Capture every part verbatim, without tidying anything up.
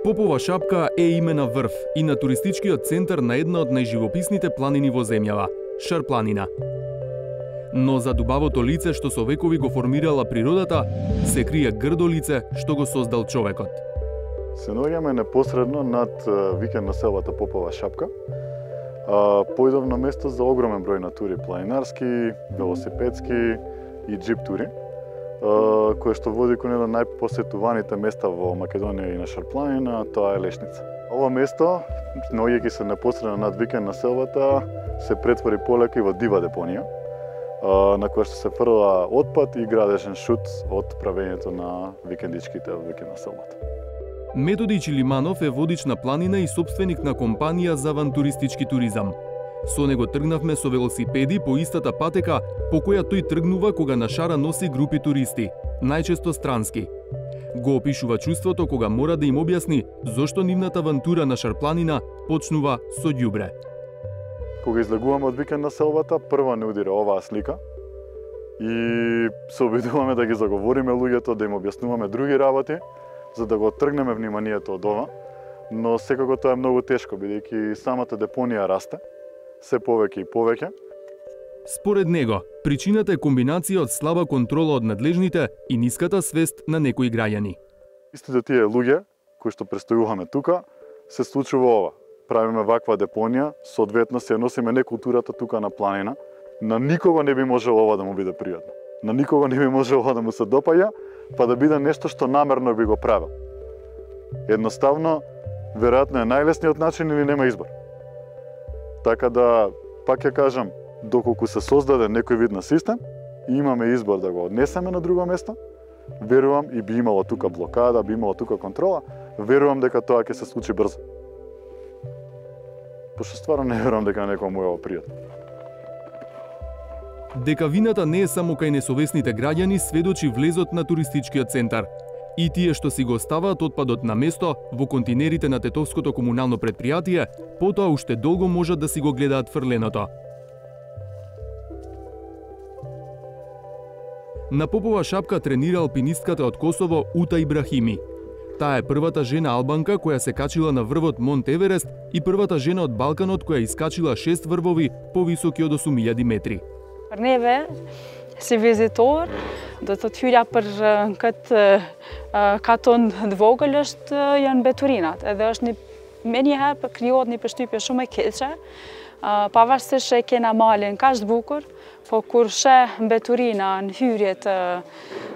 Попова шапка е име на врв и на туристичкиот центар на една од најживописните планини во земјава – Шар планина. Но за дубавото лице што со векови го формирала природата, се крие грдо лице што го создал човекот. Се наоѓаме непосредно над викенд населбата Попова шапка. Поидовно место за огромен број на тури, планинарски, велосипедски и джип тури, кое што води кон едно најпосетуваните места во Македонија и на Шар планина, тоа е Лешница. Ова место, наоѓајќи се непосредно над викенд населбата, се претвори полека и во дива депонија, на која што се фрла отпад и градежен шут од правењето на викендичките од викенд населбата. Методи Чилиманов е водич на планина и собственик на компанија за авантуристички туризам. Со него тргнавме со велосипеди по истата патека по која тој тргнува кога на Шара носи групи туристи, најчесто странски. Го опишува чувството кога мора да им објасни зошто нивната авантура на Шар планина почнува со ѓубре. Кога излегуваме од викенд населбата, прва не удира оваа слика и се обидуваме да ги заговориме луѓето, да им објаснуваме други работи, за да го тргнеме вниманието од ова, но секако тоа е многу тешко, бидејќи самата депонија расте, се повеќе и повеќе. Според него, причината е комбинација од слаба контрола од надлежните и ниската свест на некои граѓани. Истите тие луѓе кои што престојуваме тука, се случува ова. Правиме ваква депонија, соодветно се носиме некултурата тука на планина. На никого не би можело ова да му биде пријатно. На никого не би можело ова да му се допаѓа, па да биде нешто што намерно би го правил. Едноставно, веројатно е најлесниот начин или нема избор. Така да, пак ја кажам, доколку се создаде некој вид на систем и имаме избор да го однесеме на друго место, верувам и би имало тука блокада, би имало тука контрола, верувам дека тоа ќе се случи брзо. Пошто стварно не верувам дека некому е ова пријатно. Дека вината не е само кај несовесните граѓани сведочи влезот на туристичкиот центар. И тие што си го оставаат отпадот на место во континерите на Тетовското комунално предпријатие, потоа уште долго можат да си го гледаат фрленото. На Попова шапка тренира алпинистката од Косово Ута Ибрахими. Таа е првата жена албанка која се качила на врвот Монт Еверест и првата жена од Балканот која искачила шест врвови повисоки од осум илјади метри. Për neve, si vizitor, do të thyrja për këtë katon të vogël është janë mbeturinat. Edhe është një, me njëherë për krijohet një përshtypje shumë e keqe, pavarësisht që e kena malin kaq të bukur, po kur sheh mbeturina në hyrjet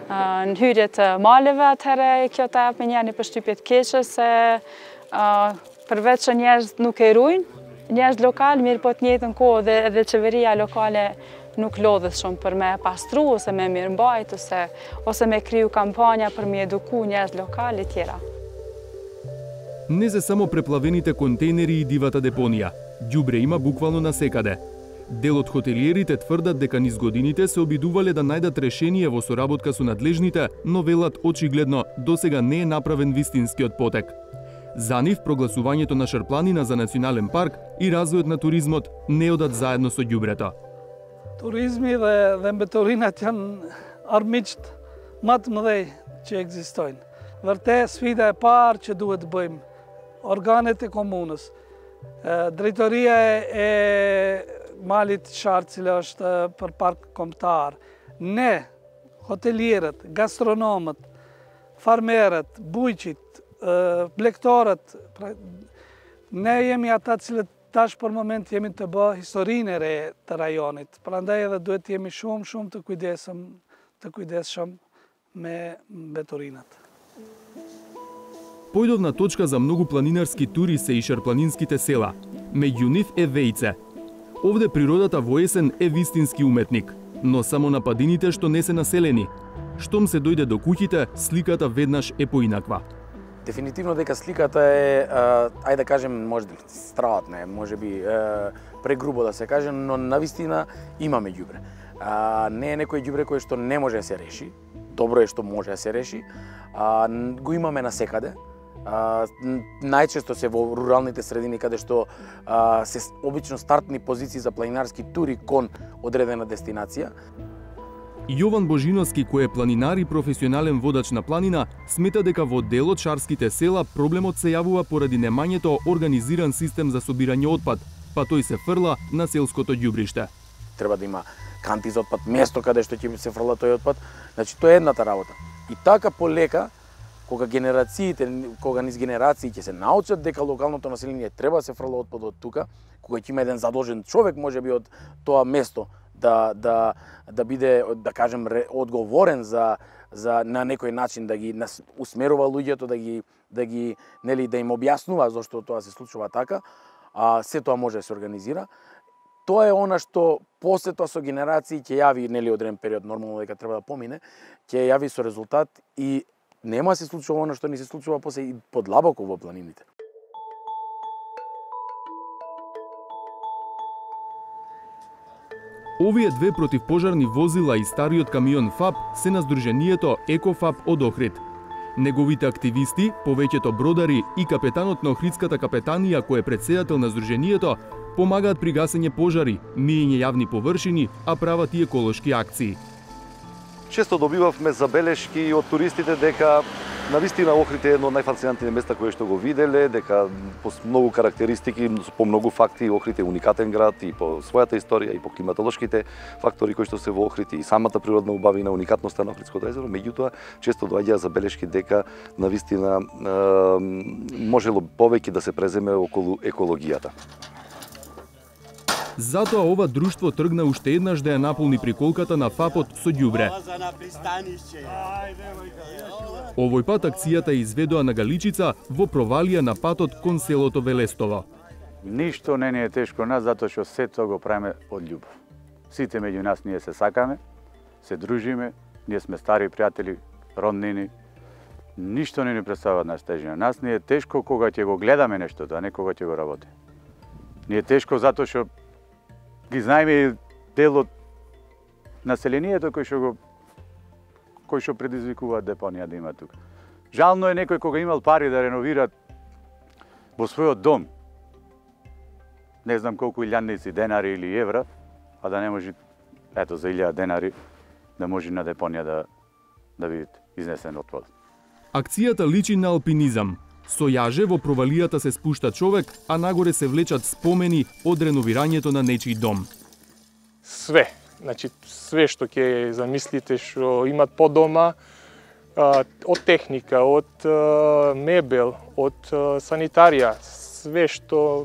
në hyrjet e maleve, atëherë kjo të jep me një përshtypje të keqe se përveç që njerëzit nuk e ruajnë, njerëzit lokal mirë po të njëjtën kohë dhe edhe qeveria lokale nuk lodhet shumë për me pastru, ose me mirëmbajt, ose, ose me kriju kampanja për me eduku njerëz lokal и тjera. Не се само преплавените контейнери и дивата депонија. Ѓубре има буквално насекаде. Дел од хотелиерите тврдат дека низ годините се обидувале да најдат решение во соработка со надлежните, но велат очигледно досега не е направен вистинскиот потек. За нив прогласувањето на Шар планина за национален парк и развојот на туризмот не одат заедно со ѓубрето. Turizmi dhe, dhe mbeturinat janë armiqt më të mëdhej që ekzistojnë. Vërtet sfida e parë që duhet të bëjmë, organet e komunës, drejtoria e malit Shar, cila është për park kombëtar, ne, hotelierët, gastronomët, farmerët, bujqit, blegtorët, ne jemi ata cilët tash për moment jemi të bë historinë e re të rajonit. Prandaj edhe duhet të jemi shumë shumë të kujdesshëm, të kujdesshëm me mbeturinat. Појдовна точка за многу планинарски тури се и шарпланинските села. Меѓу нив е Вејце. Овде природата во есен е вистински уметник, но само на падините што не се населени. Штом се дојде до куќите, сликата веднаш е поинаква. Дефинитивно дека сликата е, ајде да кажем, може би стратна е, може би прегрубо да се каже, но навистина имаме ѓубре. Не е некој ѓубре кој што не може да се реши, добро е што може да се реши, го имаме насекаде. Најчесто се во руралните средини каде што се обично стартни позиции за планинарски тури кон одредена дестинација. Јован Божиновски, кој е планинар и професионален водач на планина, смета дека во дел од шарските села проблемот се јавува поради немањето организиран систем за собирање отпад, па тој се фрла на селското ѓубриште. Треба да има канти за отпад, место каде што ќе се фрла тој отпад. Значи тоа е едната работа. И така полека, кога генерациите, кога низ генерации ќе се научат дека локалното население треба да се фрла отпад од тука, кога ќе има еден задолжен човек можеби од тоа место да да да биде, да кажем, одговорен за за на некој начин да ги усмерува луѓето, да ги да ги нели да им објаснува зошто тоа се случува така, а се тоа може да се организира. Тоа е она што после тоа со генерации ќе јави нели одреден период, нормално дека треба да помине, ќе јави со резултат и нема се случува она што ни се случува после и подлабоко во планините. Овие две противпожарни возила и стариот камион ФАП се на здружението ЕКОФАП од Охрид. Неговите активисти, повеќето бродари и капетанот на Охридската капетанија кој е претседател на здружението, помагаат при гасење пожари, миење јавни површини, а прават и еколошки акции. Често добивавме забелешки од туристите дека навистина Охрид е едно од најфасцинантните места кои што го виделе, дека по многу карактеристики, по многу факти Охрид е уникатен град и по својата историја и по климатолошките фактори кои што се во Охрид и самата природна убавина, уникатноста на Охридското езеро, меѓутоа често доаѓаа забелешки дека навистина е, можело повеќе да се преземе околу екологијата. Затоа ова друштво тргна уште еднаш да ја наполни приколката на ФАПот со ѓубре. Овој пат акцијата изведоа на Галичица во провалија на патот кон селото Велестово. Ништо не ни е тешко нас, затоа што сето го правиме од љубов. Сите меѓу нас ние се сакаме, се дружиме, ние сме стари пријатели, роднини. Ништо не ни представува нас тежина. Нас ни е тешко кога ќе го гледаме нештото, а не кога ќе го работи. Ни е тешко затоа што ги знаеме дел од населението кој што го кој што предизвикува депонија да има тука. Жално е некој кога имал пари да реновира во својот дом, не знам колку илјадници денари или евра, а да не може, ето за илјада денари, да може на депонија да да биде изнесен отпад. Акцијата личи на алпинизам. Со јаже во провалијата се спушта човек, а нагоре се влечат спомени од реновирањето на нечиј дом. Све, значи све што ќе замислите што имат по дома, од техника, од мебел, од санитарија, све што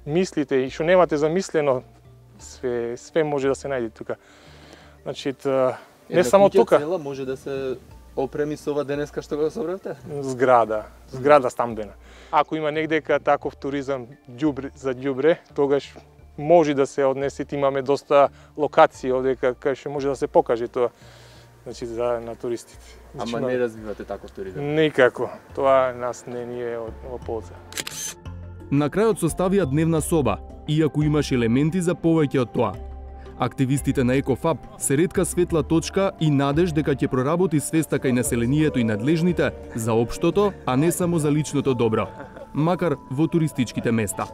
мислите и што немате замислено, све све може да се најде тука. Значи не само тука. Една куќа цела може да се опреми со ова денеска што го собравте? Зграда, зграда стамбена. Ако има негдека таков туризам ѓубре за ѓубре, тогаш може да се однесе, имаме доста локации овде кај што може да се покаже тоа, значи за на туристите. Значи, ама не развивате таков туризам? Никако. Тоа нас не ни е од полза. На крајот составија дневна соба, иако имаш елементи за повеќе од тоа. Активистите на ЕКОФАП се ретка светла точка и надеж дека ќе проработи свеста кај населението и надлежните за општото, а не само за личното добро, макар во туристичките места.